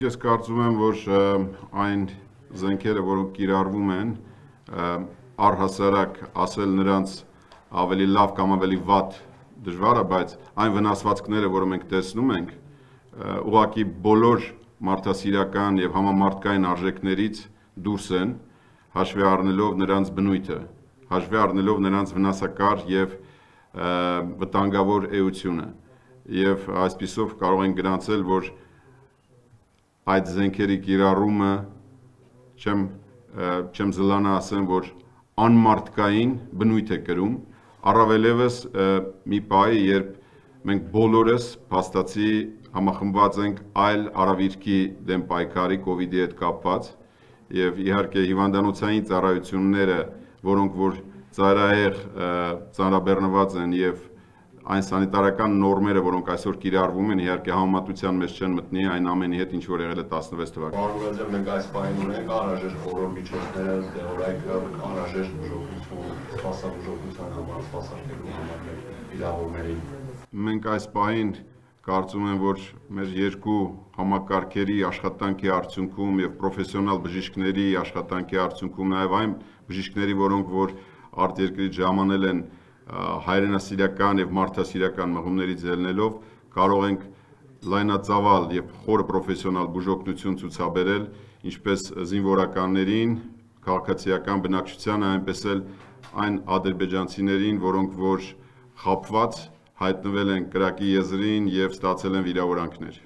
Ես կարծում եմ, որ այն զենքերը, որոնք կիրառվում են, առհասարակ ասել նրանց ավելի լավ կամ ավելի վատ դժվար է, բայց այն վնասվածքները, որը մենք տեսնում ենք, ուղղակի բոլոր մարդասիրական եւ համամարտկային արժեքներից դուրս են, հաշվի առնելով նրանց բնույթը, հաշվի առնելով նրանց վնասակար եւ վտանգավոր էությունը, եւ այսպիսով կարող են գրանցել, որ այդ զենքերի կիրառումը չեմ զլանա ասեմ, որ անմարդկային բնույթ է կրում, առավելևս մի պահի, երբ մենք բոլորս փաստացի համախմբված ենք այլ արհավիրքի դեմ պայքարի COVID-ի հետ կապված եւ իհարկե հիվանդանոցային ծառայությունները, որոնք որ ծայրահեղ ծանրաբեռնված են եւ այն սանիտարական նորմերը, որոնք այսօր կիրառվում են, իհարկե համեմատության մեջ չեն մտնի այն ամենի հետ, ինչ որ եղել է 16 թվականին։ Պարոն մենք այս պահին ունենք անհրաժեշտ բոլոր միջոցները, դեղորայքը, անհրաժեշտ բուժօգնություն, սպասաբուժօգնության համար, սպասարկելու համար վիրավորներին։ Մենք այս պահին կարծում եմ, որ մեր երկու համակարգերի աշխատանքի արդյունքում եւ պրոֆեսիոնալ բժիշկների աշխատանքի արդյունքում, նաեւ այն բժիշկների, որոնք որ արտերկրից ժամանել են հայրենասիրական եւ մարդասիրական մղումներից ելնելով կարող ենք լայնածավալ եւ խորը պրոֆեսիոնալ բուժօգնություն ցուցաբերել ինչպես զինվորականներին, քաղաքացիական բնակչությանը, այնպես էլ այն ադրբեջանցիներին, որոնք որ խաբված հայտնվել են կրակի եզրին եւ ստացել են վիրավորանքներ։